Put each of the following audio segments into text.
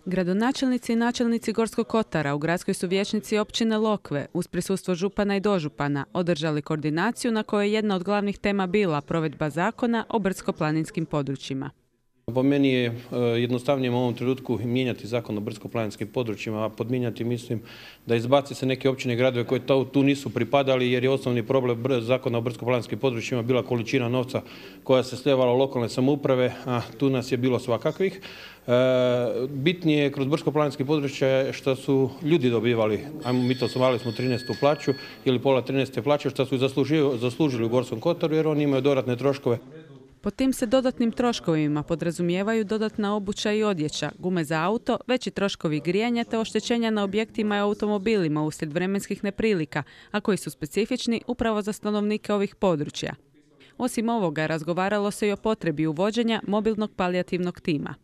Gradonačelnici i načelnici Gorskog kotara u gradskoj su vijećnici općine Lokve uz prisustvo župana i dožupana održali koordinaciju na kojoj je jedna od glavnih tema bila provedba zakona o brdsko-planinskim područjima. Po meni je jednostavnije u ovom trenutku mijenjati zakon o brdsko-planinskim područjima, a podmijenjati mislim da izbaci se neke općine i gradove koji tu nisu pripadali, jer je osnovni problem zakona o brdsko-planinskim područjima bila količina novca koja se sljevala u lokalne samouprave, a tu nas je bilo svakakvih. Bitnije je kroz brdsko-planinske područje što su ljudi dobivali, mi to zvali smo 13. plaću ili pola 13. plaće, što su zaslužili u Gorskom kotaru jer oni imaju dodatne troškove. Pod tim se dodatnim troškovima podrazumijevaju dodatna obuća i odjeća, gume za auto, veći troškovi grijanja te oštećenja na objektima i automobilima uslijed vremenskih neprilika, a koji su specifični upravo za stanovnike ovih područja. Osim ovoga, razgovaralo se i o potrebi uvođenja mobilnog palijativnog tima.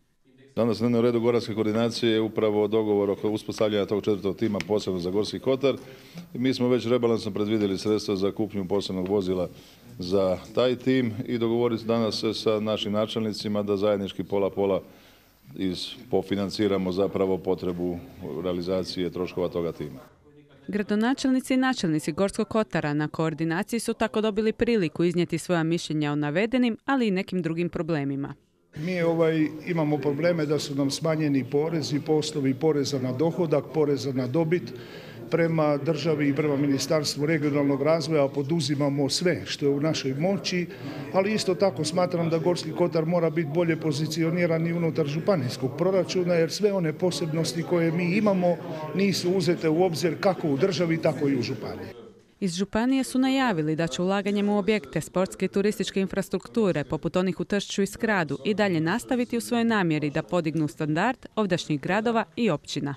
Danas na dnevnom redu Goranske koordinacije je upravo dogovor oko uspostavljanja tog 4. tima posebno za Gorski kotar. Mi smo već rebalansom predvidjeli sredstva za kupnju posebnog vozila za taj tim i dogovoriti danas sa našim načelnicima da zajednički pola-pola pofinanciramo zapravo potrebu realizacije troškova toga tima. Gradonačelnici i načelnici Gorskog kotara na koordinaciji su tako dobili priliku iznijeti svoja mišljenja o navedenim, ali i nekim drugim problemima. Mi imamo probleme da su nam smanjeni porezi po osnovi poreza na dohodak, poreza na dobit. Prema državi i prema Ministarstvu regionalnog razvoja poduzimamo sve što je u našoj moći, ali isto tako smatram da Gorski kotar mora biti bolje pozicioniran i unutar županijskog proračuna, jer sve one posebnosti koje mi imamo nisu uzete u obzir kako u državi, tako i u županiji. Iz županije su najavili da će ulaganjem u objekte sportske i turističke infrastrukture, poput onih u Tršću i Skradu, i dalje nastaviti u svojoj namjeri da podignu standard ovdašnjih gradova i općina.